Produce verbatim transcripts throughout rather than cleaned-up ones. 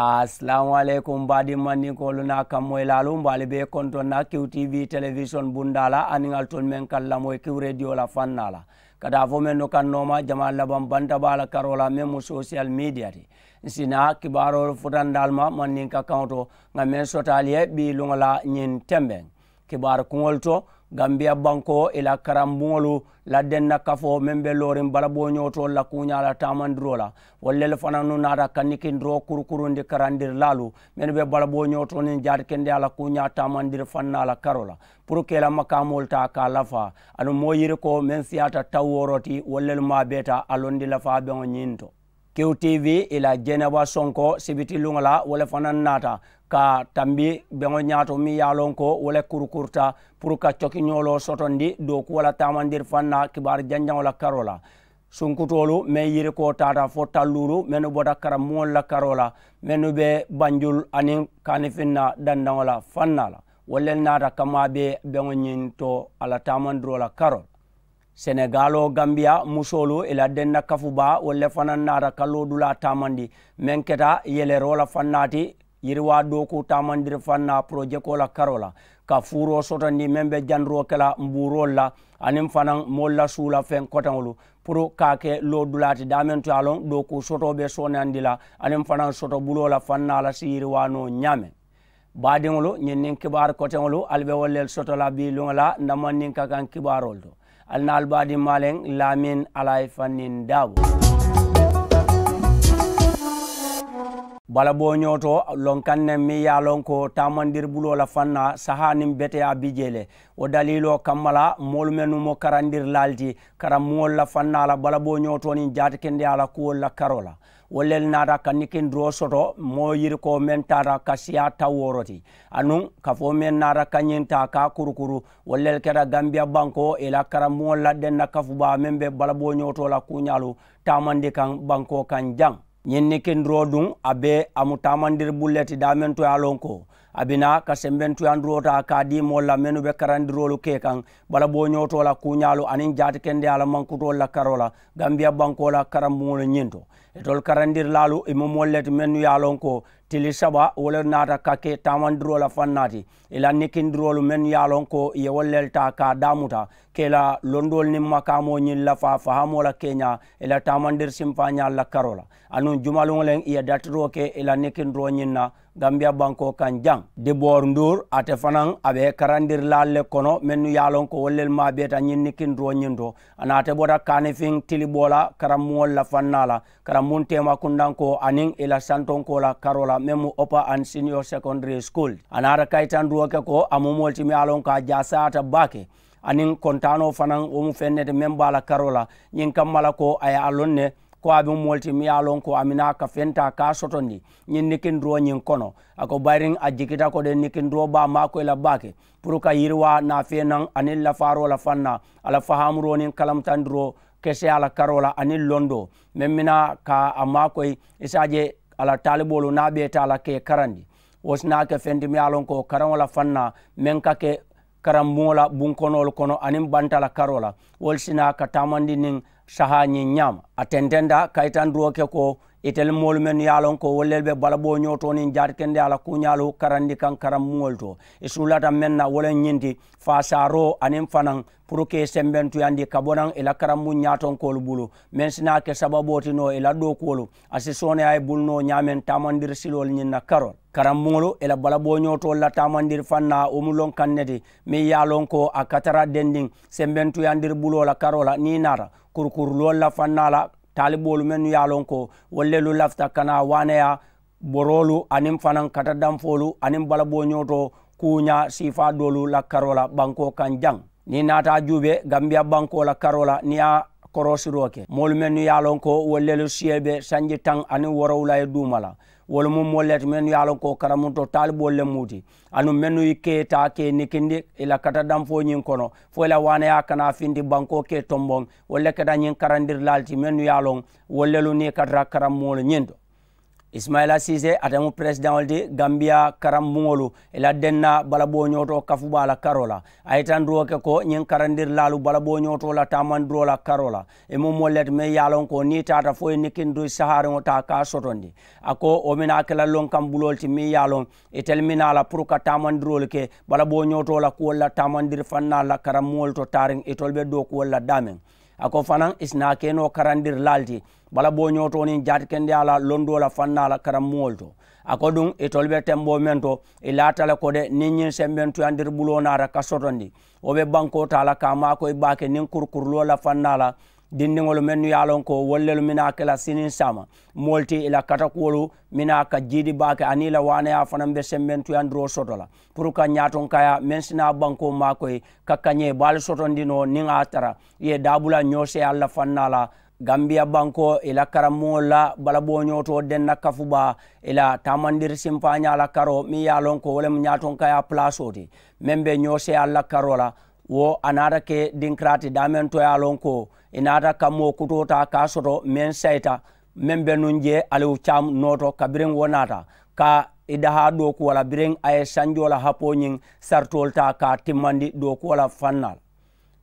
Asalaamu aleykum baadiŋ mandinkoolu niŋ a kammoyilaalu, mbe ali bee kontoŋ na kiw tv telewisoŋ bundaa la aniŋ ali tolu meŋ ka lamoyi kiw rediyo la fannaa la, ka taa fo mennu kaŋ nooma jamaa labaŋ banta baa la karoo la meŋ mu sosiyal midiya ti. N si naa kibaaroolu futandi ali ma mandinka kaŋo to, ŋà meŋ soto ali ye bii luŋo la ñiŋ tembeŋ. Kibaaru kuŋolu to, gambiya bankoo ì la karambuŋolu la denna kafoo meŋ be looriŋ balabooñootoolu la kuuñaa la taamandiroo la, wolu le fanaa nuŋ naata ka nikindiroo kurukurundi karandirilaalu mennu be balabooñootoo niŋ jaatikendeyaa la kuuñaa taamandiri fannaa la karoo la, puru ka ì la makaamoolu taa ka a lafaa. Aduŋ moo yirikoo meŋ siyaata tawooro ti wolu le maabeeta a londi lafaa beŋo ñiŋ to. Kiw tv ì la jeneba sonko sibiti luŋo la wo le fanaa naata ka tambi beŋo ñaato miŋ ye a loŋ ko wo le kurukuruta puru ka cokiñooloo sotondi dookuwo la taamandiri fannaa kibaaru janjaŋo la karoo la. Sunkutoolu meŋ yirikoo taata fo talluulu mennu bota karambuŋolu la karoo la, mennu be banjulu aniŋ kaanifinna dandaŋo la fannaa la, wolu le naata ka maa bee beŋo ñiŋ to a la taamandiroo la karoo la. Senegaaloo gambiya musoolu ì la denna kafu baa wolu le fanaa naata ka loodulaa taamandi meŋ keta yeleroo la fannaa ti, yiriwaa dookuu taamandiri fannaa porojekoo la karoo la, ka fuuroo sotondi meŋ be jandiroo ke la mbuuroolu la aniŋ fanaa moolu la suula feŋ koteŋolu, puru ka a ke loodulaa ti daameŋ to ye a loŋ dookuu sotoo be sooneyandi la aniŋ fanaa sotobuloo la fannaa la si yiriwaa noo ñaameŋ. Baadiŋolu, ñiŋ niŋ kibaaru koteŋolu ali be wolu le soto la bii luŋo la n na mandinka kaŋ kibaaroolu to. Ali na ali baadiŋ maaleŋ laamin alayi fanniŋ daabu. Balabooñoo to lonkaŋ ne meŋ ye a loŋ ko taamandiri buloo la fannaa sahaa niŋ beteyaa bi jee le. Wo daliiloo kamma la moolu mennu mu karandirilaalu ti karambuŋolu la fannaa la balabooñoo to niŋ jaatikendeyaa la kuwolu la karoo la, wolu le naata ka nikindiroo soto moo yirikoo meŋ taata ka siyaa tawooro ti anuŋ kafoo meŋ naata ka ñiŋ taa ka a kurukuru. Wolu le keta gambiya bankoo ì la karambuŋolu la denna kafu baa meŋ be balabooñoo to la kuuñaalu taamandi kaŋ bankoo kaŋ jaŋ. Ñiŋ nikindiroo duŋ a be a mu taamandiri bulu le ti daameŋ to ye a loŋ ko a bi naa ka sembentuyandiroo taa ka a dii moolu la mennu be karandiroolu ke kaŋ balabooñoo to la kuuñaalu aniŋ jaatikendeyaa la mankutoolu la karoo la. Gambiya bankoo la karambuŋolu ñiŋ to, itolu karandirilaalu ì mu moolu le ti mennu ye a loŋ ko tili saba wo le naata ka ke taamandiroo la fannaa ti. Ì la nikindiroolu mennu ye a loŋ ko ì ye wolu le taa ka a daamuta ka ì la londoolu niŋ makaamoo ñiŋ lafaa fahaamoo la keeñaa ì la taamandiri simpaañaalu la karoo la. Anuŋ jumaluŋo leŋ ì ye datiroo ke ì la nikindiroo ñiŋ na gambiya bankoo kaŋ jaŋ. Diboor nduur ate fanaa a be karandirilaalu le kono mennu ye a loŋ ko wolu le maabeeta ñiŋ nikindiroo ñiŋ to. A naate bota kaanifiŋ tiliboo la karambuŋolu la fannaa la karambuŋ teema kundankoo aniŋ ì la santonkoo la karoo la meŋ mu opa and senior secondary school. A naata kayitandiroo ke ko a mu moolu ti meŋ ye a loŋ ko a jaasayaata baake aniŋ kontaanoo fanaa wo mu feŋ ne ti meŋ be a la karoo la. Ñiŋ kamma la ko a ye a loŋ ne ko a be moolu ti meŋ ye a loŋ ko a minaa ka feŋ taa ka a sotondi ñiŋ nikindiroo ñiŋ kono. A ko bayiriŋ a jikita ko de nikindiroo be a maakoyi la baake puru ka yiriwaa naafee naŋ aniŋ lafaaroo la fannaa a la fahaamuroo niŋ kalamutandiroo keseyaa la karoo la aniŋ londoo meŋ minaa ka a maakoyi i si a je a la taaliboolu niŋ a be taa la ka ì karandi. Wo si naa ke feŋ ti meŋ ye a loŋ ko karaŋo la fannaa meŋ ka ke karambuŋo la bunkonoolu kono aniŋ banta la karoo la wolu si naa ka taamandi niŋ sahaa ñiŋ ñaama. A tententa kayitandiroo ke ko itelu moolu mennu ye a loŋ ko wolu le be balabooñoo to niŋ jaatikendeyaa la kuuñaalu karandi kaŋ karambuŋolu to i suulata meŋ na wo le ñiŋ ti faasaaroo aniŋ fanaa puru ka ì sembentuyandi ka bo naŋ ì la karambuŋ ñaatonkoolu bulu meŋ si naa ke sababoo ti noo ì la dookuwolu a si sooneyaa i bulu noo ñaameŋ taamandiri siloolu ñiŋ na karoo la. Karambuŋolu ì la balabooñootoolu la taamandiri fannaa wo mu lonkaŋ ne ti meŋ ye a loŋ ko a ka tara dendiŋ sembentuyandiri buloo la karoo la niŋ i naata kurukuruloolu la fannaa la taaliboolu mennu ye a loŋ ko wolu lelu lafita ka naa waaneyaa boroolu aniŋ fanaŋ katadanfoolu aniŋ balabooñootoo kuuñaa siifaa doolu la karoo la bankoo kaŋ jaŋ. Niŋ i naata a juubee gambiya bankoo la karoo la niŋ i ye a koroosiroo ke moolu mennu ye a loŋ ko wolu lelu siyee be sanji taŋ aniŋ woorowula ye duuma la wolu mu moolu le ti mennu ye a loŋ ko karamuntoo taaliboolu le mu ti anuŋ mennu ye ke taa ka i nikindi i la katadanfoo ñiŋ kono fo i la waaneyaa kana a finti bankoo ka i tomboŋ wolu le keta ñiŋ karandirilaalu ti mennu ye a loŋ wolu lelu niŋ i katara karambuŋolu ñiŋ to. Isimayila siisee ate mu peresidaŋo le ti gambiya karambuŋolu i la denna balabooñootoo kafubaa la karoo la. A ye tandiroo ke ko ñiŋ karandirilaalu balabooñootoo la taamandiroo la karoo la i mu moolu le ti meŋ ye a loŋ ko niŋ i taata fo i ye nikindiri sahaariŋo taa ka a sotondi. A ko wo mina a ke la lonkaŋ buloolu ti meŋ ye a loŋ itelu mina a la puru ka taamandiroolu ke balabooñootoo la kuwolu la taamandiri fannaalu la karambuŋolu to taariŋ itolu be dookuwolu la daameŋ. A ko fanaŋ i si naa ke noo karandirilaalu ti balabooñootoo niŋ jaatikendeyaa la londoo la fannaa la karambuŋolu to. A ko duŋ itolu be temboo meŋ to i laata le ko de niŋ ñiŋ sembentuyandiri buloo naata ka sotondi wo be bankoo taa la ka a maakoyi baake niŋ kurukuruloo la fannaa la dindiŋolu mennu ye a loŋ ko wolu lelu mina ke la siniŋ saama moolu ti i la katakuwolu mina ka jiidi baake aniŋ i la waaneyaa fanaŋ be sembentuyandiroo soto la puru ka ñaatonkaya meŋ si naa bankoo maakoyi ka kañee baalu sotondi noo niŋ a tara i ye daabula ñooseeyaalu la fannaa la. Gambiya bankoo i la karambuŋolu la balabooñootoo denna kafubaa i la taamandiri simpaañaa la karoo meŋ ye a loŋ ko wo le mu ñaatonkaya palaasoo ti meŋ be ñooseeyaalu la karoo la. Wo a naata ke dinkiraa ti daameŋ to ye a loŋ ko i naata ka moo kutoo taa ka a soto meŋ sayita meŋ be nuŋ jee aliwu caamu nooto kabiriŋ wo naata ka i dahaa dookuwo la biriŋ a ye sanjoo la hapoo ñiŋ saritoolu taa ka a timmandi dookuwo la fannaa la.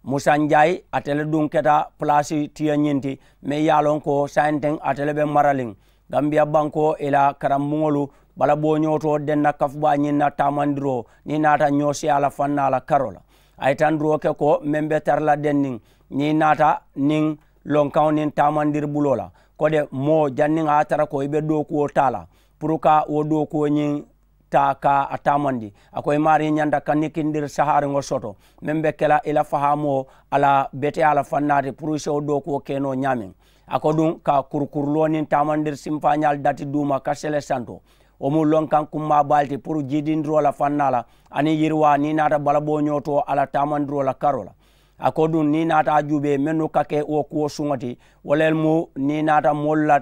Musa njaayi ate le duŋ keta palaasi tiya ñiŋ ti meŋ ye a loŋ ko sayinteŋ ate le be maraliŋ gambiya bankoo i la karambuŋolu balabooñootoo denna kafubaa ñiŋ na taamandiroo niŋ i naata ñooseeyaa la fannaa la karoo la. A ye tandiroo ke ko meŋ be tara la denniŋ niŋ i naata niŋ lonkaŋo niŋ taamandiri buloo la ko de moo janniŋ a ye a tara ko i be dookuwo taa la puru ka wo dookuwo ñiŋ taa ka a taamandi. A ko i maarii ñanta ka nikindiri sahaariŋo soto meŋ be ke la i la fahaamoo a la beteyaa la fannaati puru i si wo dookuwo ke noo ñaameŋ. A ko duŋ ka kurukuruloo niŋ taamandiri simpaañaalu dati duuma ka sele santo wo mu lonkaŋ kummaa baalu ti puru jiidindiroo la fannaa la aniŋ yiriwaa niŋ i naata balabooñoo to a la taamandiroo la karoo la. A ko duŋ niŋ i naata a juubee mennu ka ke wo kuwo suŋo ti wo le mu niŋ i naata moolu la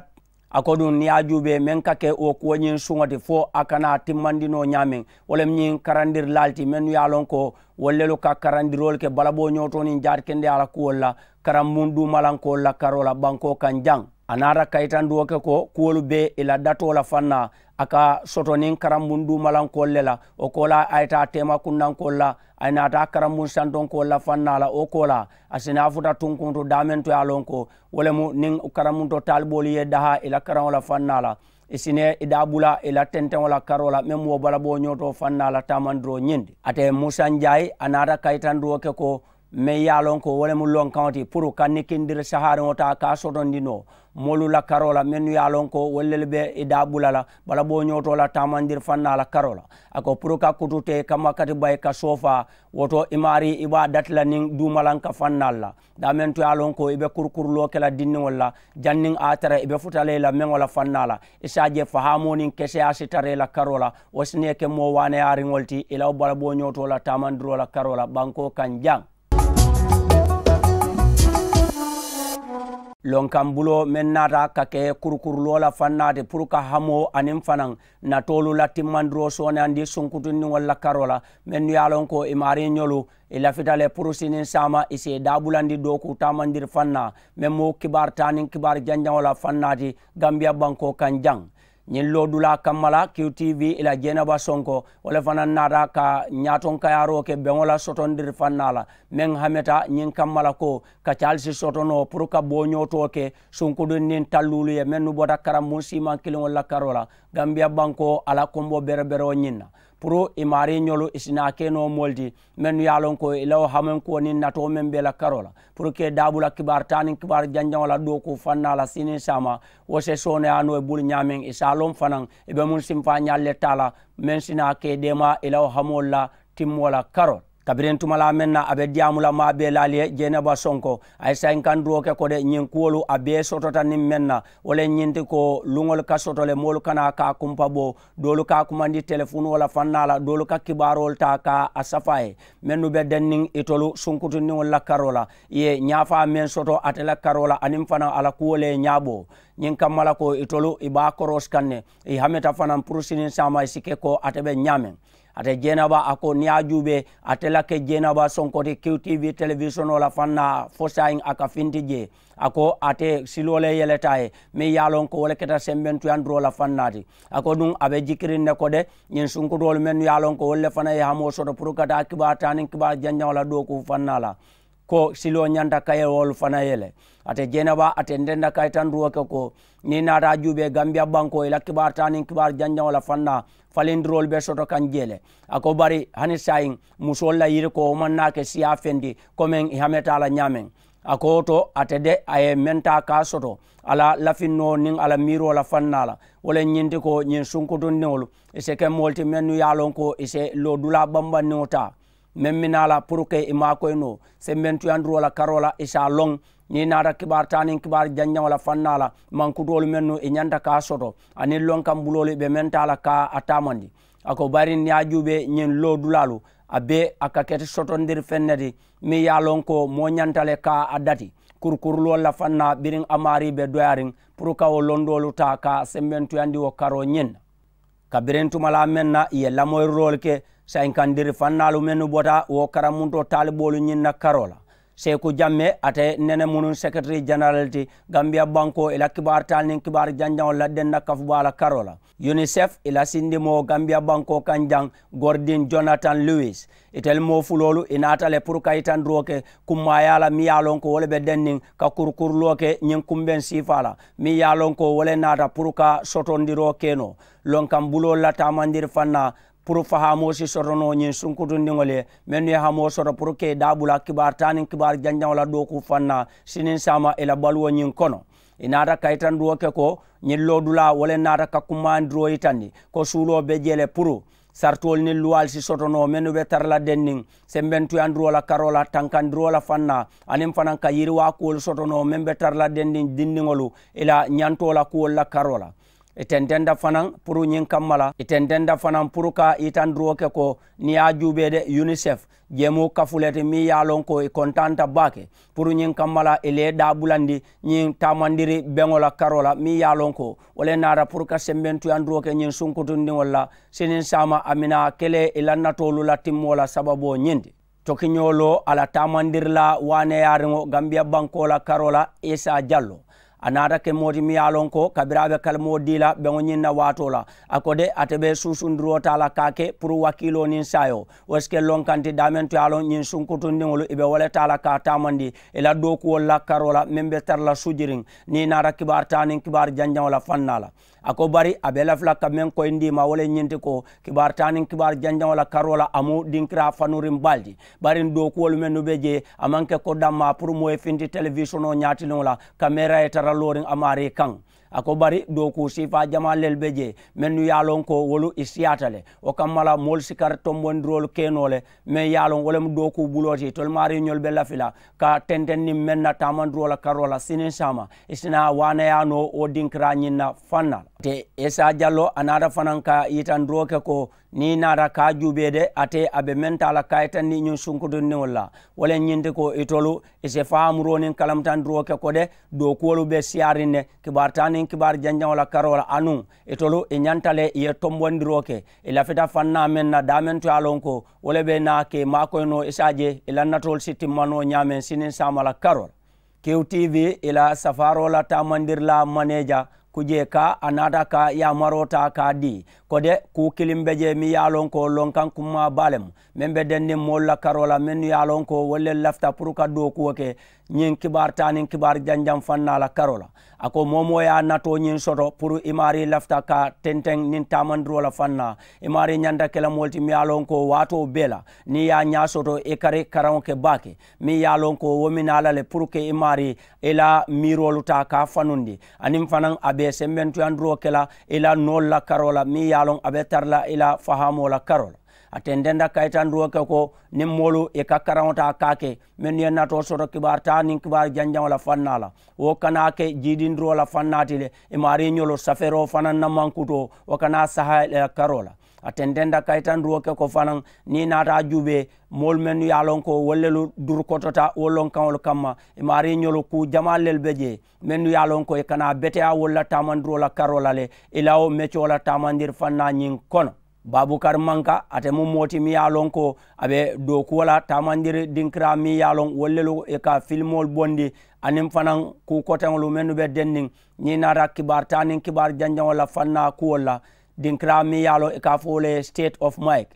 a ko duŋ niŋ i ye a juubee meŋ ka ke wo kuwo ñiŋ suŋo ti fo a kana a timmandi noo ñaameŋ wo le mu ñiŋ karandirilaalu ti mennu ye a loŋ ko wolu lelu ka karandiroolu ke balabooñoo to niŋ jaatikendeyaa la kuwolu la karambuŋ duumalankoolu la karoo la bankoo kaŋ jaŋ. A naata kayitandiwo ke ko kuwolu be i la datoo la fannaa a ka soto niŋ karambuŋ duumalankoolu le la wo koolaa a ye taa teema kunnankoolu la a ye naata karambuŋ santonkoolu la fannaa la wo koolaa a si naa futa tunkuntu daameŋ to ye a loŋ ko wo le mu niŋ karambuŋ to taaliboolu ye i dahaa i la karaŋo la fannaa la i si ne i daa bula i la tenteŋo la karoo la meŋ mu wo balabooñoo to fannaa la taamandiroo ñiŋ ti. Ate musa njaayi a naata kayitandiwo ke ko meŋ ye a loŋ ko wo le mu lonkaŋo ti puru ka nikindiri sahaariŋo taa ka a sotondi noo moolu la karoo la mennu ye a loŋ ko wolu lelu be i daa bula la balabooñoo to la taamandiri fannaa la karoo la. A ko puru ka kutu te i kamma kati bayi ka soofaa wo to i maarii i be a dati la niŋ duumalanka fannaalu la daameŋ to ye a loŋ ko i be kurukuruloo ke la dindiŋolu la janniŋ a ye a tara i be futa la i la meŋo la fannaa la i si a je fahaamoo niŋ keseyaa si tara i la karoo la wo si ne ke moo waaneyaariŋolu ti i la wo balabooñoo to la taamandiroo la karoo la bankoo kaŋ jaŋ. Lonkaŋ buloo meŋ naata ka ke kurukuruloo la fannaa ti puru ka hamoo aniŋ fanaŋ natoolu la timmandiroo sooneyandi sunkutundiŋolu la karoo la mennu ye a loŋ ko i maariiñolu i lafita le puru siniŋ saama i si i daabulandi dookuu taamandiri fannaa meŋ mu kibaari taa niŋ kibaari janjaŋo la fannaa ti gambiya bankoo kaŋ jaŋ. Ñiŋ loodulaa kamma la q t v i la jeenaba sonko wo le fanaŋ naata ka ñaatonkayaaroo ke beŋo la sotondiri fannaa la meŋ hameta ñiŋ kamma la ko ka caalisi soto noo puru ka booñootoo ke sunkudundiŋ talluulu ye mennu bota karambuŋ siimaŋ kiliŋolu la karoo la gambiya bankoo a la kombo bereberewo ñiŋ na puru i maariiñolu i si naa ke noo moolu ti mennu ye a loŋ ko i la wo hamankuwo niŋ natoo meŋ be i la karoo la puru ka i daabula kibaari taa niŋ kibaari janjaŋo la dookuu fannaa la siniŋ saama wo se sooneyaa noo i bulu ñaameŋ i si a loŋ fanaŋ i be muŋ sinfaañaalu le taa la meŋ si naa ka i deemaa i la wo hamoolu la timmoo la karoo la. Kabiriŋ tumalaa meŋ na a be diyaamu la maa bee laalu ye jeenaba sonko a ye sayinkandiroo ke ko de ñiŋ kuwolu a bee sotota niŋ meŋ na wo le ñiŋ ti ko luŋolu ka soto le moolu kana ka a kumpa bo doolu ka a kumandi telefunoo la fannaa la doolu ka kibaaroolu taa ka a safa a ye mennu be denniŋ itolu sunkutundiŋolu la karoo la i ye ñaafaa meŋ soto ate la karoo la aniŋ fanaŋ a la kuwo le ye ñaaboo ñiŋ kamma la ko itolu i be a koroosi kaŋ ne i hameta fanaŋ puru siniŋ saama i si ke ko ate be ñaameŋ. Ate jeenaba a ko niŋ ye a juubee ate la ke jeenaba sonko ti kiw tiivi telewisonoo la faŋ na fo saayiŋ a ka finti jee. A ko ate siloo le yeleta a ye meŋ ye a loŋ ko wo le keta sembentuyandiroo la faŋ na ti. A ko duŋ a be jikiriŋ ne ko de ñiŋ sunkutoolu mennu ye a loŋ ko wolu le fanaŋ ye hamoo soto puru ka taa kibaari taa niŋ kibaari janjaŋo la dookuu faŋ na la ko siloo ñanta ka ye wolu fanaŋ ye le. Ate jeenaba ate ntenta ka itandiroo ke ko niŋ i naata a juubee gambiya bankoo i la kibaari taa niŋ kibaari janjaŋo la faŋ na falindiroolu be soto kaŋ jee le. A ko bari hani saayiŋ musoolu la yirikoo wo maŋ naa ke siyaa feŋ ti komeŋ i hameta a la ñaameŋ. A ko wo to ate de a ye meŋ taa ka a soto a la lafinnoo niŋ a la miiroo la faŋ na la wo le ñiŋ ti ko ñiŋ sunkutundiŋolu i si ke moolu ti mennu ye a loŋ ko i si loodulaa bambandiŋo taa meŋ mi naa la puru ke i maakoyi noo sembentuyandiroo la karoo la i si a loŋ. Niŋ i naata kibaari taa niŋ kibaari janjaŋo la faŋ na la mankutoolu mennu i ñanta ka a soto aniŋ lonkaŋ buloolu i be meŋ taa la ka a taamandi. A ko bari niŋ ye a juubee ñiŋ loodulaalu a bee a ka ke ti sotondiri feŋ ne ti meŋ ye a loŋ ko moo ñanta le ka a dati kurukuruloolu la faŋ na biriŋ a maarii be doyaariŋ puru ka wo londoolu taa ka sembentuyandi wo karoo ñiŋ na. Kabiriŋ tumalaa meŋ na i ye lamoyiriloolu ke sayinkandirifannaalu mennu bota wo karamuntoo taaliboolu ñiŋ na karoo la seeku jamme ate nene munuŋ seketiri jenerali ti gambiya bankoo i la kibaari taali niŋ kibaari janjaŋo la denna kafubaa la karoo la. Unicef i la sindimoo gambiya bankoo kaŋ jaŋ gordin jonathan lewis itelu moo fuloolu i naata le puru ka yitandiroo ke kummaayaa la miŋ ye a loŋ ko wo le be denniŋ ka kurukuruloo ke ñiŋ kumbeŋ siifaa la miŋ ye a loŋ ko wo le naata puru ka sotondiroo ke noo lonkaŋ buloolu la taamandiri faŋ na puru fahaamoo si soto noo ñiŋ sunkutundiŋolu ye mennu ye hamoo soto puru ka i daabula kibaari taa niŋ kibaari janjaŋo la dookuu faŋ na siniŋ saama i la baluwo ñiŋ kono. I naata kayitandiroo ke ko ñiŋ loodulaa wo le naata ka kumayandiroo yitandi ko suuloo be jee le puru saritoolu niŋ luwaalu si soto noo mennu be tara la denniŋ sembentuyandiroo la karoo la tankandiroo la faŋ na aniŋ fanaŋ ka yiriwaa kuwolu soto noo meŋ be tara la denniŋ dindiŋolu i la ñantoo la kuwolu la karoo la. I tententa fanaŋ puru ñiŋ kamma la i tententa fanaŋ puru ka yitandiroo ke ko niŋ ye a juubee de unicef jeemuu kafu le ti meŋ ye a loŋ ko i kontaanta baake puru ñiŋ kamma la i le ye daabulandi ñiŋ taamandiri beŋo la karoo la meŋ ye a loŋ ko wo le naata puru ka sembentuyandiroo ke ñiŋ sunkutundiŋolu la siniŋ saama a mina kele i la natoolu la timmoo la sababoo ñiŋ ti. Tokiñoo loo a la taamandirilaa waaneyaariŋo gambiya bankoo la karoo la isa jallo a naata ke moo ti miŋ ye a loŋ ko kabiriŋ a be kalimoo dii la beŋo ñiŋ na waatoo la a ko de ate be suusundiroo taa la ka a ke puru wakiiloo niŋ saayoo wo si ke loŋ kaŋ ti daameŋ to ye a loŋ ñiŋ sunkutundiŋolu i be wo le taa la ka a taamandi i la dookuwolu la karoo la meŋ be tara la sujiriŋ niŋ i naata kibaari taa niŋ kibaari janjaŋo la faŋ naa la. A ko bari a be lafi la ka meŋ koyindi i ma wo le ñiŋ ti ko kibaari taa niŋ kibaari janjaŋo la karoo la a mu dinkiraa fanuriŋ baalu ti bari dookuwolu mennu be jee a maŋ ke ko dammaa puru moo ye finti telewisonoo ñaatiliŋo la kameera ye tara looriŋ a maarii kaŋ. A ko bari dookuu siifaa jamaa lelu be jee mennu ye a loŋ ko wolu i siyaata le wo kamma la moolu si kari tombondiroolu ke noo le meŋ ye a loŋ wo le mu dookuu buloo ti itolu maariiñolu be lafi la ka tenteŋ niŋ meŋ na taamandiroo la karoo la siniŋ saama i si naa waaneyaa noo wo dinkiraa ñiŋ na faŋ na la. Te esa jallo a naata fanaŋ ka yitandiroo ke ko niŋ i naata ka a juubee de ate a be meŋ taa la ka a yitandi ñiŋ sunkutundiŋolu la wo le ñiŋ ti ko itolu i si fahamuroo niŋ kalamutandiroo ke ko de dookuwolu be siyaariŋ ne kibaari taa niŋ kibaari janjaŋo la karoo la anuŋ itolu i ñanta le i ye tombondiroo ke i lafita faŋ naa meŋ na daameŋ to ye a loŋ ko wo le be naa ke maakoyi noo i si a je i la natoolu si timma noo ñaameŋ siniŋ saama la karoo la. Kiw tv i la safaaroo la taamandirilaa maneeja kujee ka a naata ka yaamaroo taa ka a dii ko de kuu kiliŋ be jee miŋ ye a loŋ ko lonkaŋ kummaa baa le mu meŋ be denniŋ moolu la karoo la mennu ye a loŋ ko wolu le lafita puru ka dookuwo ke ñiŋ kibaari taa niŋ kibaari janjaŋ faŋ naa la karoo la. A ko moo moo ye a natoo ñiŋ soto puru i maarii lafita ka tenteŋ niŋ taamandiroo la faŋ naa i maarii ñanta ke la moolu ti miŋ ye a loŋ ko waatoo bee la niŋ i ye a ñaa soto i kari karaŋo ke baake meŋ ye a loŋ ko wo mi naa la le puru ke i maarii i la miiroolu taa ka a fanundi aniŋ fanaŋ a be sembentuyandiroo ke la i la noolu la karoo la meŋ ye a loŋ a be tara la i la fahaamoo la karoo la. A tententa kayitandiroo ke ko niŋ moolu i ka karaŋo taa ka a ke mennu ye natoo soto kibaari taa niŋ kibaari janjaŋo la faŋ naa la wo kana a ke jiidindiroo la faŋ naa ti le i maarii ñolu safeeroo fanaŋ na mankutoo wo kana a saha i la karoo la. A tententa kayitandiroo ke ko fanaŋ niŋ i naata a juubee moolu mennu ye a loŋ ko wolu lelu durukotota wo lonkaŋolu kamma i maarii ñolu kuu jamaalu lelu be jee mennu ye a loŋ ko i kana a beteyaa wolu la taamandiroo la karoo la le i la wo mecoo la taamandiri faŋ naa ñiŋ kono. Baabukari manka ate mu moo ti meŋ ye a loŋ ko a be dookuwo la taamandiri dinkiraa meŋ ye a loŋ wolu lelu i ka filimoolu bondi aniŋ fanaŋ kuu koteŋolu mennu be denniŋ. Niŋ i naata kibaari taa niŋ kibaari janjaŋo la fannaa kuwolu la dinkiraa meŋ ye a loŋ i ka a fo wo le ye state of mike.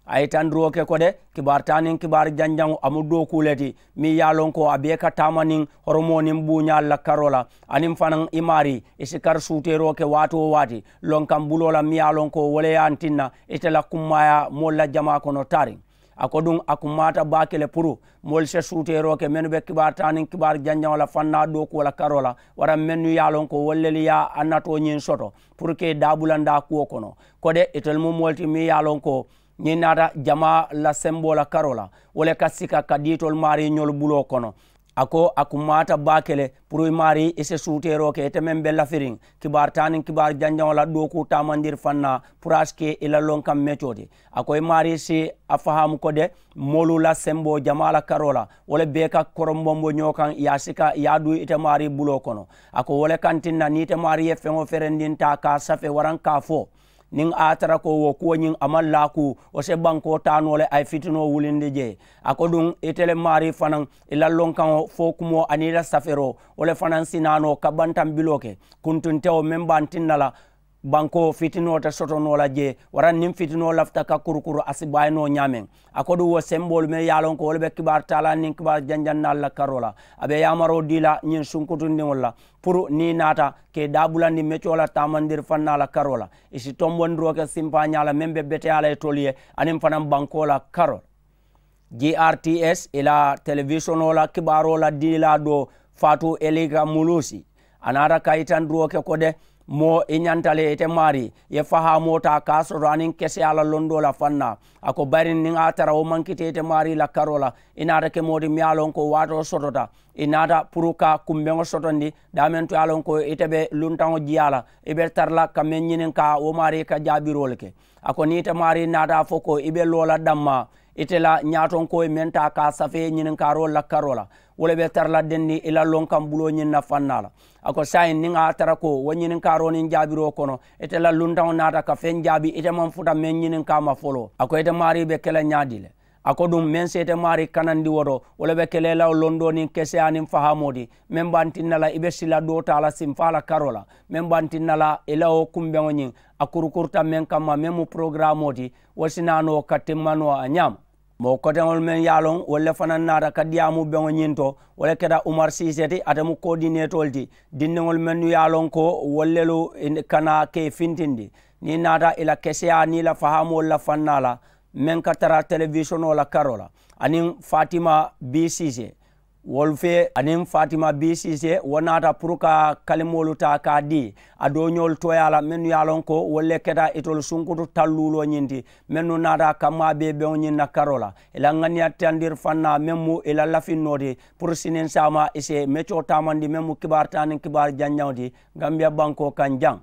A ye tandiroo ke ko de kibaari taa niŋ kibaari janjaŋo a mu dookuu le ti meŋ ye a loŋ ko a bee ka taama niŋ horomoo niŋ buuñaalu la karoo la aniŋ fanaŋ i maarii i si kari suuteeroo ke waati wo waati lonkaŋ buloo la meŋ ye a loŋ ko wo le ye a tinna ite la kummaayaa moolu la jamaa kono taariŋ. A ko duŋ a kummaata baake le puru moolu se suuteeroo ke mennu be kibaari taa niŋ kibaari janjaŋo la fannaa dookuwo la karoo la waraŋ mennu ye a loŋ ko wolu lelu ye a natoo ñiŋ soto puru ka i daabulandaa kuwo kono. Ko de itelu mu moolu ti meŋ ye a loŋ ko ñiŋ naata jamaa la semboo la karoo la wo le ka sika ka dii itolu maarii ñolu buloo kono. A ko a kummaata baake le puru i maarii i si suuteeroo ke ite meŋ be lafiriŋ kibaari taa niŋ kibaari janjaŋo la dookuu taamandiri fannaa puru a si ke i la lonkaŋ mecoo ti. A ko i maarii si a fahaamu ko de moolu la semboo jamaa la karoo la wo le bee ka koronbonbo ñoo kaŋ i ye a sika i ye a duu ite maarii buloo kono. A ko wo le kaŋ tinna niŋ ite maarii ye feŋo ferendiŋ taa ka a safe waraŋ ka a fo niŋ a ye a tara ko wo kuwo ñiŋ a maŋ laakuu wo se bankoo taa noo le a ye fitinoo wulindi jee. A ko duŋ ite le maarii fanaŋ i la lonkaŋo fo kumoo aniŋ i la safeeroo wo le fanaŋ si naa noo ka bantambiloo ke kuntuntewo meŋ be a tinna la bankoo fitinoo te soto noo la jee waraŋ niŋ fitinoo lafita ka kurukuru a si baayi noo ñaameŋ. A ko duŋ wo semboolu meŋ ye a loŋ ko wolu be kibaari taalaa niŋ kibaari janjannaalu la karoo la a be yaamaroo dii la ñiŋ sunkutundiŋolu la puru niŋ i naata ka i daabulandi mecoo la taamandiri fannaa la karoo la i si tombondiroo ke simpaañaa la meŋ be beteyaa la itolu ye aniŋ fanaŋ bankoo la karoo la. G R T S i la telewisonoo la kibaaroo la diilaa doo faatu elika muluusi a naata ka yitanduroo ke ko de moo i ñanta le ite maarii ye fahaamoo taa ka a soto aniŋ keseyaa la londoo la fannaa. A ko bari niŋ a tara wo maŋ kiti ite maarii la karoo la i naata ke moo ti meŋ ye a loŋ ko waatoo sotota i naata puru ka kumbeŋo sotondi daameŋ to ye a loŋ ko ite be luntaŋo jiyaa la i be tara la ka meŋ ñininkaa wo maarii ka jaabiroo le ke. A ko niŋ ite maarii naata a fo ko i be loo la dammaa ite la ñaatonkoo ye meŋ taa ka a safee ñininkaaroo la karoo la wo le be tara la denniŋ i la lonkaŋ buloo ñiŋ na fannaa la. A ko saayiŋ niŋ a ye a tara ko wo ñininkaaroo niŋ jaabiroo kono ite la luntaŋo naata ka feŋ jaabi ite maŋ futa meŋ ñininkaa ma foloo a ko ite maarii be ke la ñaadii le. A ko duŋ meŋ si ite maarii kanandi wo to wo le be ke la i la wo londoo niŋ keseyaa niŋ fahaamoo ti meŋ be a tinna la i be sila doo taa la simfaa la karoo la meŋ be a tinna la i la wo kumbeŋo ñiŋ a kurukuruta meŋ kamma meŋ mu porogiraamoo ti wo si naa noo ka timma noo a ñaama. Moo koteŋolu meŋ ye a loŋ wolu le fanaŋ naata ka diyaamu beŋo ñiŋ to wo le keta umar siise ti ate mu koodinetoolu ti dindiŋolu mennu ye a loŋ ko wolu lelu kana ke fintindi niŋ naata i la keseyaa niŋ i la fahaamoolu la fannaa la meŋ ka tara telewisonoo la karoo la aniŋ fatima b siise wolu fee aniŋ fatima b siise wo naata puru ka kalimoolu taa ka a dii a dooñoolu tooyaa la mennu ye a loŋ ko wolu le keta itolu sunkutu talluuloo ñiŋ ti mennu naata kammaa bee beŋo ñiŋ na karoo la i la ŋaniya tiyandiri fannaa meŋ mu i la lafinnoo ti puru siniŋ saama i si mecoo taamandi meŋ mu kibaari taa niŋ kibaari janjaŋo ti gambiya bankoo kaŋ jaŋ.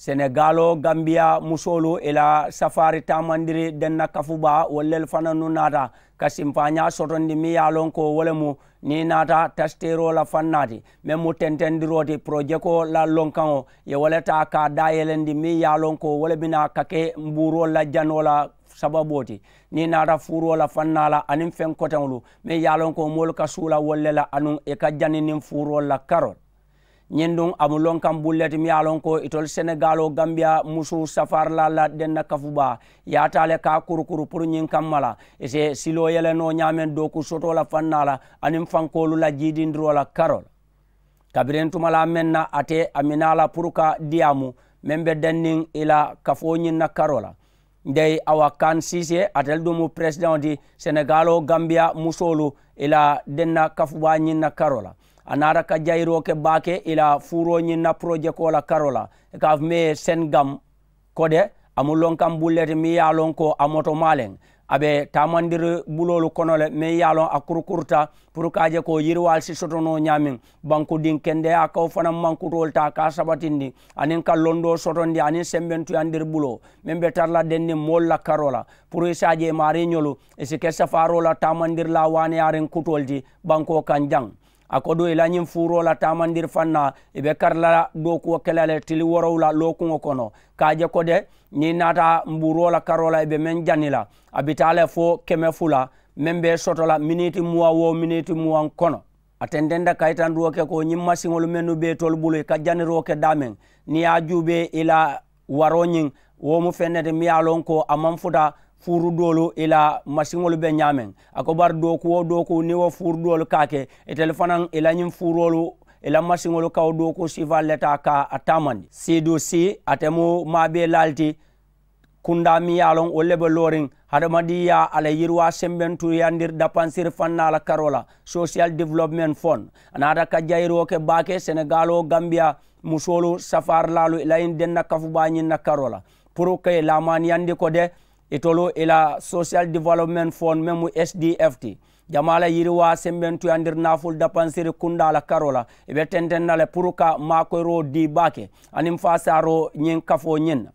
Senegaaloo gambiya musoolu i la safaari taamandiri denna kafubaa wolu lelu fanannu naata ka simpaañaa sotondi miŋ ye a loŋ ko wo le mu niŋ i naata tasiteeroo la fannaa ti meŋ mu tentendiroo ti porojekoo la lonkaŋo ye wo le taa ka a daayelendi miŋ ye a loŋ ko wo le bi naa ka ke mbuuroo la janoo la sababoo ti niŋ i naata fuuroo la fannaa la aniŋ feŋ koteŋolu meŋ ye a loŋ ko moolu ka suula wolu le la anuŋ i ka jani niŋ fuuroo la karoo. Ñiŋ duŋ a mu lonkaŋ bulu le ti miŋ ye a loŋ ko itolu senegaaloo gambiya musu safaarilaa la denna kafubaa ye a taa le ka a kurukuru puru ñiŋ kamma la i si siloo yele noo ñaameŋ dooku sotoo la fannaa la aniŋ fankoolu la jiidindiroo la karoo la. Kabiriŋ tumalaa meŋ na ate a minaa la puru ka diyaamu meŋ be denniŋ i la kafoo ñiŋ na karoo la. Ndey awa kan siisee ate le duŋ mu peresideŋo ti senegaaloo gambiya musoolu i la denna kafubaa ñiŋ na karoo la. A naata ka jayiroo ke baake i la fuuroo ñiŋ na porojekoo la karoo la i ka a fo mee sen gam. Ko de a mu lonkaŋ bulu le ti meŋ ye a loŋ ko a moto maaleŋ a be taamandiri buloolu kono le meŋ ye a loŋ a kurukuruta puru ka a je ko yiriwaalu si soto noo ñaameŋ. Bankudiŋ kendeyaa ka wo fanaŋ mankutoolu taa ka a sabatindi aniŋ ka londoo sotondi aniŋ sembentuyandiri buloo meŋ be tara la denniŋ moolu la karoo la puru i si a je maariiñolu i si ke safaaroo la taamandirilaa waaneyaariŋ kutoolu ti bankoo kaŋ jaŋ. A ko duŋ i la ñiŋ fuuroo la taamandiri faŋ na i be kari la dookuwo ke la le tili woorowula lookuŋo kono ka a je ko de niŋ i naata mbuuroo la karoo la i be meŋ jani la a bi taa le fo keme fula meŋ be soto la miniiti muwaŋ wo miniiti muwaŋ kono. A tententa kayitandiroo ke ko ñiŋ masiŋolu mennu be itolu bulu i ka janiroo ke daameŋ niŋ i ye a juubee i la waroo ñiŋ wo mu feŋ ne ti miŋ ye a loŋ ko a maŋ futa fuuru doolu i la masiŋolu be ñaameŋ. A ko bari dooku wo dooku niŋ wo fuuru doolu ka a ke itelu fanaŋ i la ñiŋ fuuroolu i la masiŋolu ka wo dooku siifaalu le taa ka a taamandi siidu sii ate mu maabee laalu ti kundaa miŋ ye a loŋ wolu le be looriŋ hadamadiŋyaa a la yiriwaa sembentuuyandiri dapansiri fannaa la karoo la sosiyal development fon. A naata ka jayiroo ke baake senegaaloo gambiya musoolu safaarilaalu i la ñiŋ denna kafubaa ñiŋ na karoo la puru ka i laamaaniyandi ko de itolu i la sosiyal development fon meŋ mu sdf ti jamaa la yiriwaa sembentuyandiri naafulu dapansiri kundaa la karoo la i be tenteŋ na le puru ka maakoyiroo dii baake aniŋ faasaaroo ñiŋ kafoo ñiŋ na.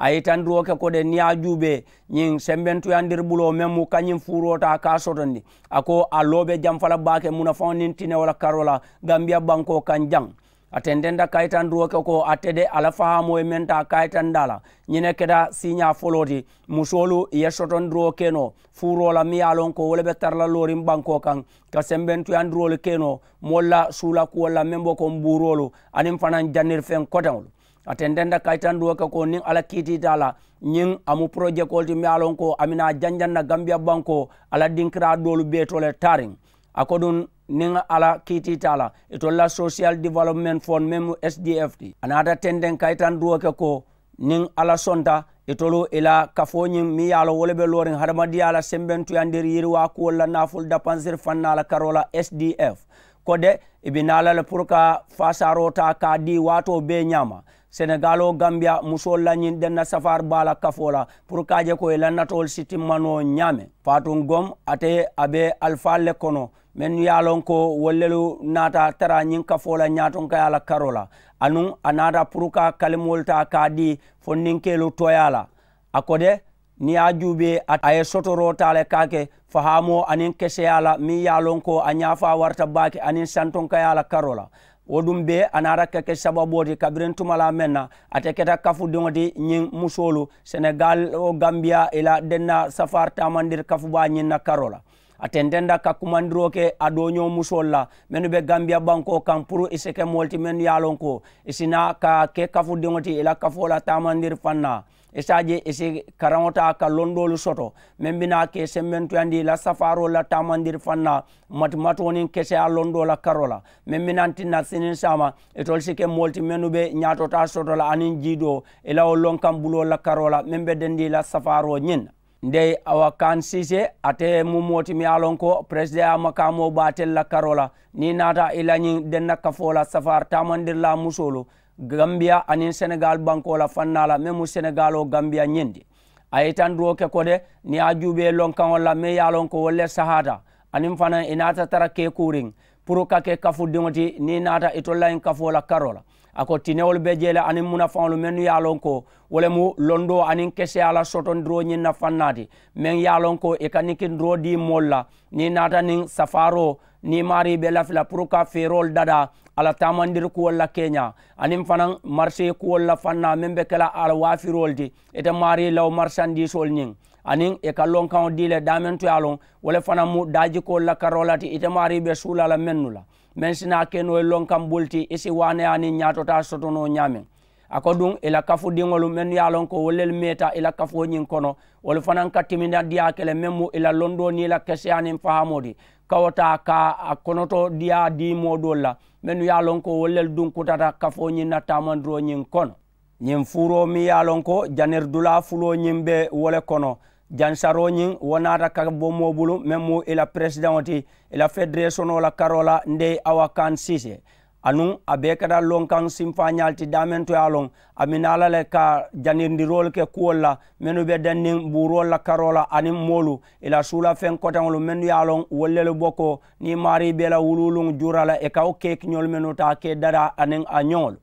A ye itandiroo ke ko de niŋ ye a juubee ñiŋ sembentuyandiri buloo meŋ mu ka ñiŋ fuuroo taa ka a sotondi a ko a loo be jamfa la baake munafaŋo niŋ tinewo la karoo la gambiya bankoo kaŋ jaŋ. A tententa kayitandiroo ke ko ate de a la fahaamoo ye meŋ taa kayitandaa la ñiŋ ne keta siiñaa foloo ti musoolu i ye sotondiroo ke noo fuuroo la miŋ ye a loŋ ko wo le be tara la looriŋ bankoo kaŋ ka sembentuyandiroolu ke noo moolu la suula kuwolu la meŋ be ko mbuuroolu aniŋ fanaŋ janiri feŋ koteŋolu. A tententa kayitandiroo ke ko niŋ alla kiitiita a la ñiŋ a mu porojekoolu ti meŋ ye a loŋ ko a mina a janjaŋ na gambiya bankoo a la dinkiraa doolu bee to le taariŋ. A ko duŋ niŋ alla kiitiita a la itolu la sosiyal development fon meŋ mu sdf ti a naata tenteŋ kayitandiroo ke ko niŋ alla sonta itolu i la kafoo ñiŋ meŋ ye a loŋ wo le be looriŋ hadamadiyaa la sembentuyandiri yiriwaa kuwolu la naafulu dapansiri fannaa la karoo la sdf ko de i bi naa la le puru ka faasaaroo taa ka a dii waatoo bee ñaama. Senegaaloo gambiya musoolu la ñiŋ denna safaari baa la kafoo la puru ka a je ko i la natoolu si timma noo ñaameŋ. Faatuŋ gom ate a be alifaalu le kono mennu ye a loŋ ko wolu lelu naata tara ñiŋ kafoo la ñaatonkayaa la karoo la anuŋ a naata puru ka kalimoolu taa ka a dii fondinkeelu tooyaa la. A ko de niŋ ye a juubee a ye sotoroo taa le ka a ke fahaamoo aniŋ keseyaa la meŋ ye a loŋ ko a ñaafaa warata baake aniŋ santonkayaa la karoo la. Wo duŋ bee a naata ka ke sababoo ti kabiriŋ tumalaa meŋ na ate keta kafudiŋo ti ñiŋ musoolu senegal wo gambiya i la denna safaari taamandiri kafubaa ñiŋ na karoo la. A tententa ka kumandiroo ke a dooñoo musoolu la mennu be gambiya bankoo kaŋ puru i si ke moolu ti mennu ye a loŋ ko i si naa ka ke kafudiŋo ti i la kafoo la taamandiri faŋ na. I si a je i si karaŋo taa ka londoolu soto meŋ bi naa ke sembentuyandi i la safaaroolu la taamandiri faŋ na matimatuŋo niŋ keseyaa londoo la karoo la meŋ bi naa tinna siniŋ saama itolu si ke moolu ti mennu be ñaatotaa soto la aniŋ jiidoo i la wo lonkaŋ buloolu la karoo la meŋ be dendi i la safaaroo ñiŋ na. Ndey awa kan siise ate mu moo ti meŋ ye a loŋ ko peresideŋyaa makaamoo be ate le la karoo la niŋ i naata i la ñiŋ denna kafoo la safaari taamandirilaa musoolu gambiya aniŋ senegaali bankoo la fannaa la meŋ mu senegaaloo gambiya ñiŋ ti. A ye itandiroo ke ko de niŋ ye a juubee lonkaŋolu la meŋ ye a loŋ ko wolu le sahaata aniŋ fanaŋ i naata tara keekuuriŋ puru ka ke kafudiŋo ti niŋ i naata itolu la ñiŋ kafoo la karoo la. A ko tinewolu be jee le aniŋ munafaŋolu mennu ye a loŋ ko wo le mu londoo aniŋ keseyaa la sotondiroo ñiŋ na fannaa ti meŋ ye a loŋ ko i ka nikindiroo dii moolu la niŋ i naata niŋ safaaroo niŋ maarii be lafi la puru ka feeroolu dadaa a la taamandiri kuwolu la keeñaa aniŋ fanaŋ marisee kuwolu la fannaa meŋ be ke la a la waafiroolu ti ite maarii la wo marisandiisoolu ñiŋ aniŋ i ka lonkaŋo dii le daameŋ to ye a loŋ wo le fanaŋ mu daajikoolu la karoo la ti ite maarii be suula la mennu la meŋ si naa ke noo ye lonkaŋ bulu ti i si waaneyaa niŋ ñaatotaa soto noo ñaameŋ. A ko duŋ i la kafudiŋolu mennu ye a loŋ ko wolu lelu meeta i la kafoo ñiŋ kono wolu fanaŋ ka timinandiyaa ke le meŋ mu i la londoo niŋ i la keseyaa niŋ fahaamoo ti ka wo taa ka a konotodiyaa dii moo doolu la mennu ye a loŋ ko wolu lelu duŋ kutata kafoo ñiŋ na taamandiroo ñiŋ kono. Ñiŋ fuuroo meŋ ye a loŋ ko janiri dulaa fuloo ñiŋ be wo le kono. Jansaroo ñiŋ wo naata ka bo moo bulu meŋ mu i la peresideŋo ti i la federesonoo la karoo la ndey awa kan siise. Anuŋ a bee keta lonkaŋ sinfaañaalu ti daameŋ to ye a loŋ a mi naa la le ka janindiroolu ke kuwolu la mennu be denniŋ buuroolu la karoo la aniŋ moolu i la suulafeŋ koteŋolu mennu ye a loŋ wolu lelu boko niŋ maarii be la wuluwuluŋ juura la i ka wo keekiñolu mennu taa ke dadaa aniŋ a ñoŋolu.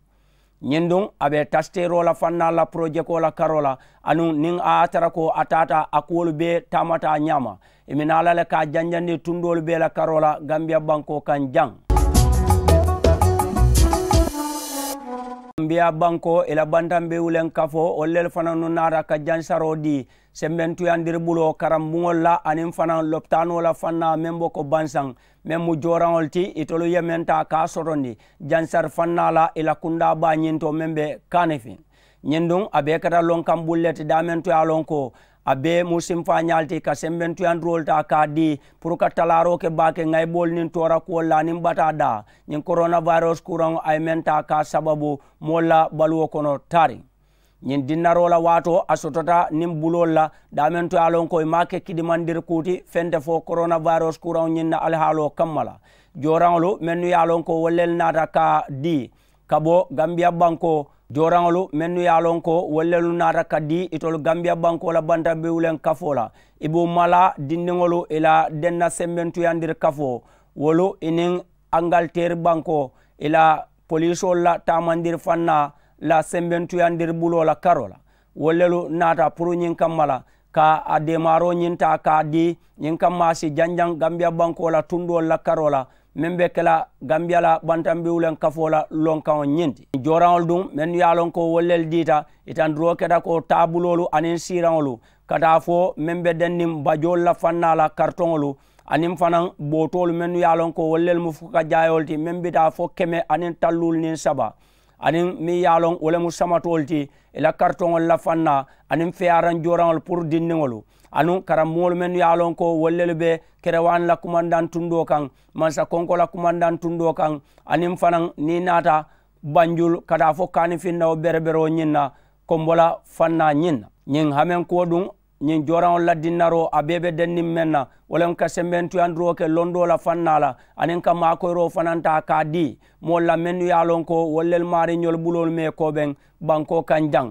Ñiŋ duŋ a be tasiteeroo la fannaa la porojekoo la karoo la anuŋ niŋ a ye a tara ko a taata a kuwolu bee taamata a ñaama i mi naa la le ka a janjandi tundoolu bee la karoo la gambiya bankoo kaŋ jaŋ. Gambiya bankoo i la bantambiwuleŋ kafoo wolu lelu fanannu naata ka jansaroo dii sembentuyandiri buloo karambuŋolu la aniŋ fanaŋ lopitaanoo la fannaa meŋ bo ko bansaŋ meŋ mu jooraŋolu ti itolu ye meŋ taa ka a sotondi jansari fannaa la i la kundaa baa ñiŋ to meŋ be kaanifiŋ. Ñiŋ duŋ a be i kata lonkaŋ bulu le ti daameŋ to ye a loŋ ko a bee mu simfaañaalu ti ka sembentuyandiroolu taa ka a dii puru ka talaaroo ke baake ŋayiboolu niŋ toora kuwolu la aniŋ bataa daa ñiŋ koronawayirosi kuuraŋo a ye meŋ taa ka a sababu moolu la baluwo kono taariŋ. Ñiŋ dinnaroo la waatoo a sotota niŋ buloolu la daameŋ to ye a loŋ ko i maŋ a ke kidimandiri kuu ti feŋ te fo koronawayirosi kuuraŋo ñiŋ na alihaaloo kamma la. Jooraŋolu mennu ye a loŋ ko wolu lelu naata ka a dii ka bo gambiya bankoo jooraŋolu mennu ye a loŋ ko wolu lelu naata ka dii itolu gambiya bankoo la bantambiwuleŋ kafoo la i be u malaa dindiŋolu i la denna sembentuyandiri kafoo wolu i niŋ angaliteeri bankoo i la poliisoolu la taamandiri fannaa la sembentuyandiri buloo la karoo la wolu lelu naata puru ñiŋ kamma la ka a deemaaroo ñiŋ taa ka a dii ñiŋ kamma a si janjaŋ gambiya bankoo la tundoolu la karoo la meŋ be ke la gambiya la bantambiwuleŋ kafoo la lonkaŋo ñiŋ ti. Jooraŋolu duŋ mennu ye a loŋ ko wolu lelu diita itandiroo keta ko taabuloolu aniŋ siiraŋolu ka taa fo meŋ be denniŋ bajoolu la fannaa la karitoŋolu aniŋ fanaŋ bootoolu mennu ye a loŋ ko wolu lelu mu fukajaayoolu ti meŋ bi taa fo keme aniŋ talluulu niŋ saba aniŋ meŋ ye a loŋ wo le mu samatoolu ti i la karitoŋolu la fannaa aniŋ feyaaraŋ jooraŋolu puru dindiŋolu anuŋ karambuŋolu mennu ye a loŋ ko wolu lelu be kerewaani la kumandaŋ tundoo kaŋ mansa konko la kumandaŋ tundoo kaŋ aniŋ fanaŋ niŋ i naata banjulu ka taa fo kaanifinnawo bereberoo ñiŋ na kombo la fannaa ñiŋ na ñiŋ hamenkuwo duŋ ñiŋ jooraŋolu la dinnaroo a bee be denniŋ meŋ na wo le mu ka sembentuyandiroo ke londoo la fannaa la aniŋ ka maakoyiroo fanaŋ taa ka a dii moolu la mennu ye a loŋ ko wolu lelu maariñolu buloolu mee koobeŋ bankoo kaŋ jaŋ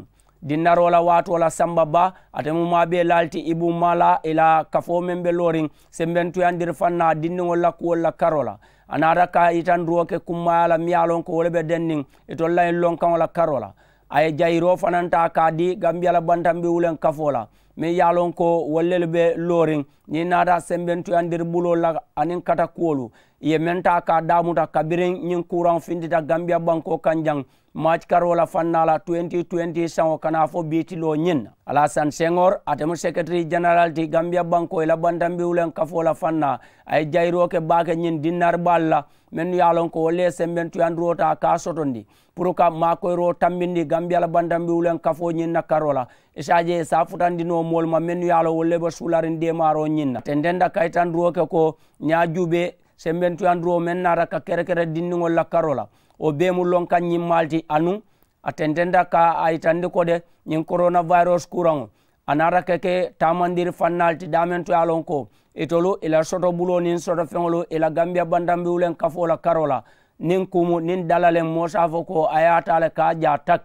dinnaroo la waatoo la samba baa ate mu maabee laalu ti i buŋ maa la i la kafoo meŋ be looriŋ sembentuyandiri fannaa dindiŋolu la kuwolu la karoo la a naata ka a yitandiroo ke kummaayaa la miŋ ye a loŋ ko wo le be denniŋ itolu la ñiŋ lonkaŋo la karoo la a ye jayiroo fanaŋ taa ka a dii gambiya la bantambiwuleŋ kafoo la meŋ ye a loŋ ko wolu lelu be looriŋ niŋ i naata sembentuyandiri buloolu la aniŋ kata kuwolu i ye meŋ taa ka a daamuta kabiriŋ ñiŋ kuuraŋo fintita gambiya bankoo kaŋ jaŋ maaci karoo la fannaa la twenty twenty saŋo ka naa fo bii tiloo ñiŋ na. Alasan seŋor ate mu seketiri jeneral ti gambiya bankoo i la bantambiwuleŋ kafoo la fannaa a ye jayiroo ke baake ñiŋ dinnari baalu la mennu ye a loŋ ko wolu le ye sembentuyandiroo taa ka a sotondi puru ka maakoyiroo tambindi gambiya la bantambiwuleŋ kafoo ñiŋ na karoo la i si a je i si a futandi noo moolu ma mennu ye a loŋ wolu le be suulariŋ deemaaroo ñiŋ na tententa kayitandiroo ke ko niŋ a juubee sembentuyandiroo meŋ naata ka kerekere dindiŋolu la karoo la wo bee mu lonkaŋ ñimmaalu ti anuŋ a tententa ka a yitandi ko de ñiŋ koronawayirosi kuuraŋo a naata ka ke taamandiri fannaalu ti daameŋ to ye a loŋ ko itolu i la sotobuloo niŋ sotofeŋolu i la gambiya bantambiwuleŋ kafoo la karoo la niŋ kuumu niŋ dala le moo si a fo ko a ye a taa le ka a jaa tak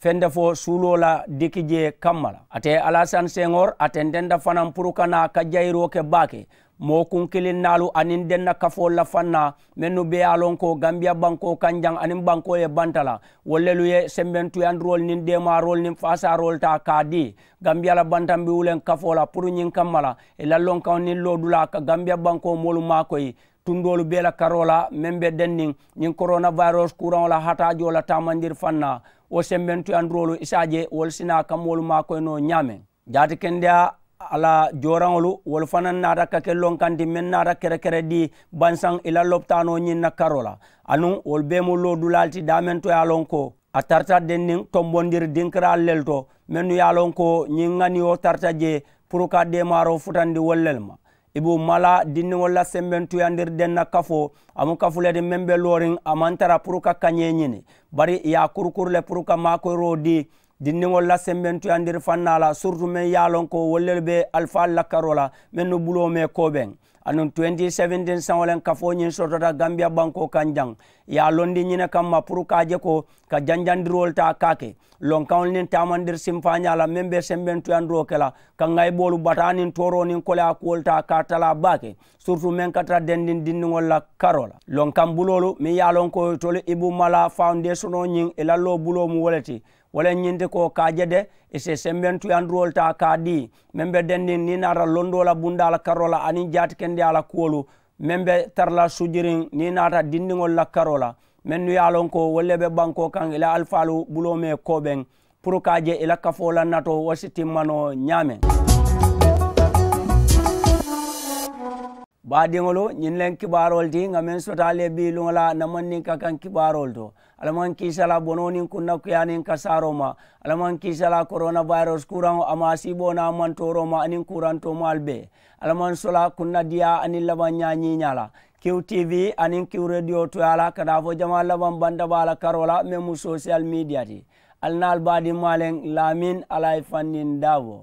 fende fo suuloo la diki jee kamma la ate alasan seŋor a tententa fanaŋ puru ka naa ka jayiroo ke baake moo kunkilinnaalu aniŋ denna kafoolu la fannaa mennu be ye a loŋ ko gambiya bankoo kaŋ jaŋ aniŋ bankoo ye banta la wolu lelu ye sembentuyandiroolu niŋ deemaaroolu niŋ faasaaroolu taa ka a dii gambiya la bantambiwuleŋ kafoo la puru ñiŋ kamma la i la lonkaŋo niŋ loodulaa ka gambiya bankoo moolu maakoyi tundoolu bee la karoo la meŋ be denniŋ ñiŋ koronawayirosi kuuraŋo la hataajoo la taamandiri fannaa wo sembentuyandiroolu i si a je wolu si naa ka moolu maakoyi noo ñaameŋ jaatikendeyaa a la jooraŋolu wolu fanaŋ naata ka ke lonkaŋ ti meŋ naata kerekere dii bansaŋ i la lopitaanoo ñiŋ na karoo la anuŋ wolu bee mu loodulaalu ti daameŋ to ye a loŋ ko a tarata denniŋ tombondiri dinkiraalu lelu to mennu ye a loŋ ko ñiŋ ŋaniyo tarata jee puru ka deemaaroo futandi wolu lelu ma i be u malaa dindiŋolu la sembentuyandiri denna kafoo a mu kafu le ti meŋ be looriŋ a maŋ tara puru ka kañee ñini bari i ye a kurukuru le puru ka maakoyiroo dii dindiŋolu la sembentuyandiri fannaa la surutu meŋ ye a loŋ ko wolu lelu be alifaalu la karoo la mennu buloo mee koobeŋ anuŋ twenty seventeen saŋo leŋ kafoo ñiŋ sotota gambiya bankoo kaŋ jaŋ i ye a londi ñine kamma puru ka a je ko ka janjandiroolu taa ka a ke lonkaŋolu niŋ taamandiri simfaañaa la meŋ be sembentuyandiroo ke la ka ŋayiboolu bataa niŋ tooroo niŋ koleyaa kuwolu taa ka a talaa baake surutu meŋ ka tara dendiŋ dindiŋolu la karoo la lonkaŋ buloolu meŋ ye a loŋ ko itolu i bumma la fawundeesonoo ñiŋ i la loo buloo mu wo le ti wo le ñiŋ ti ko ka a je de i si sembentuyandiroolu taa ka a dii meŋ be dendiŋ niŋ i naata londoo la bundaa la karoo la aniŋ jaatikendeyaa la kuwolu meŋ be tara la sujiriŋ niŋ i naata dindiŋolu la karoo la mennu ye a loŋ ko wolu le be bankoo kaŋ i la alifaalu buloo mee koobeŋ puru ka a je i la kafoo la natoo wo si timma noo ñaameŋ. Baadiŋolu, ñiŋ le kibaaroolu ti ŋa meŋ soto ali ye bii luŋo la namanniŋ ka kaŋ kibaaroolu to. Alla maŋ kiisa la bonoo niŋ kunnakuyaa niŋ kasaaroo ma. Alla maŋ kiisa la korona vayirus kuraŋo a maŋ a siiboo naa mantooroo ma aniŋ kurantoo maalu bee. Alla maŋ sola kunnadiyaa aniŋ labaŋ ñaa ñiiñaa la. Kiw tv aniŋ kiw rediyo toyaa la ka daa fo jamaa labaŋ banta baa la karoo la meŋ mu sosiyal miidiya ti. Ali naa ali baadiŋ maaleŋ laamin alla ye fanniŋ daaboo.